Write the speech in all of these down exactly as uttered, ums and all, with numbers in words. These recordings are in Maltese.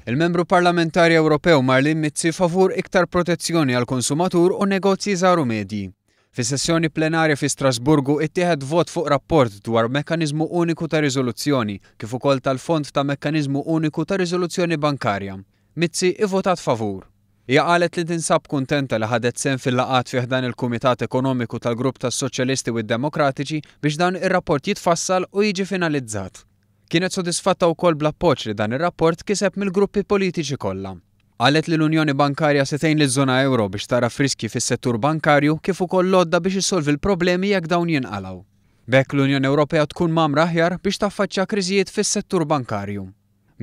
Il-Membru Parlamentari Ewropew Marlene Mizzi favur iktar protezzjoni għall-konsumatur u negozji żgħar u medji. Fis-sessjoni plenarja fi Strasburgu ittieħed vot fuq rapport dwar Mekkaniżmu Uniku ta' Riżoluzzjoni kif ukoll tal-Fond ta' Mekkaniżmu Uniku ta' Riżoluzzjoni Bankarja. Mizzi ivvotat favur. Hija qalet li tinsab kuntenta li ħadet sehem fil-laqgħat fi ħdan il-Kumitat Ekonomiku tal-Grupp tas-Soċjalisti u d-Demokratiċi biex dan ir-rapport jitfassal u jiġi finalizzat. Kienet sodisfatta wkoll bl-appoġġ li dan ir-rapport kiseb mill-gruppi politiċi kollha. Qalet li l-Unjoni Bankarja se tgħin liż-żona ewro biex tagħraf riskji fis-settur bankarju kif ukoll l-għodda biex issolvi l-problemi jekk dawn jinqalgħu. B'hekk l-Unjoni Ewropea tkun mgħammra aħjar biex taffaċċja kriżijiet fis-settur bankarju.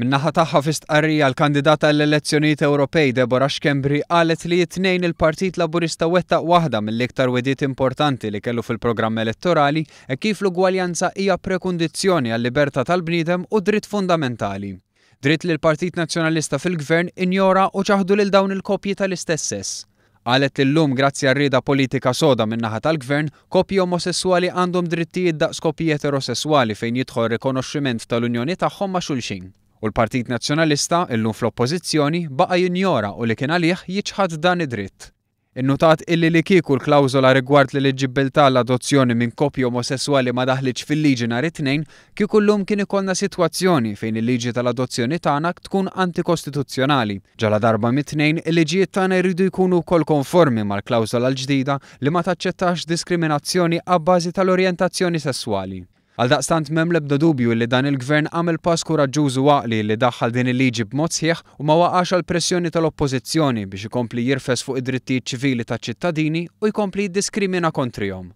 Min-naħa tagħha, fi stqarrija, l-kandidata għall-elezzjonijiet Ewropej Deborah Schembri qalet li t-Tnejn il-Partit Laburista wettaq waħda mill-iktar wegħdiet importanti li kellu fil-programm elettorali e kif l-ugwaljanza hija prekundizzjoni għal-libertà tal-bniedem u dritt fundamentali. Dritt li l-Partit Nazzjonalista fil-Gvern injora u ċaħdu lil dawn il-koppji tal-istess sess. Qalet li llum, grazzi għar-rieda politika soda min-naħa tal-Gvern, koppji omosessuali għandhom drittijiet daqs koppji eterosessuali fejn jidħol rikonoxximent tal-unjoni tagħhom ma' xulxin. U l-Partit Nazzjonalista, illum fl-Oppożizzjoni, baqa' jinjora u li kien għalih jiċħad dan id-dritt. Innutat illi li kieku l-klawżola rigward l-eliġibbiltà l-adozzjoni minn koppji omosessuali ma daħlitx fil-liġi nhar it-Tnejn, kieku llum kien ikollna sitwazzjoni fejn il-liġi tal-adozzjoni tagħna tkun antikostituzzjonali. Ġala darba mit-tnejn il-liġijiet tagħna jridu jkunu wkoll konformi mal-klawżola l-ġdida li ma taċċettax diskriminazzjoni abbażi tal-orjentazzjoni sesswali. Għaldaqstant m'hemm l-ebda dubju li dan il-gvern għamel pass kuraġġuż u għaqli li daħħal din il-liġi b'mod sħiħ u ma waqax għal pressjoni tal-Oppożizzjoni biex ikompli jirfes fuq id-drittijiet ċivili taċ-ċittadini u jkompli jiddiskrimina kontrihom.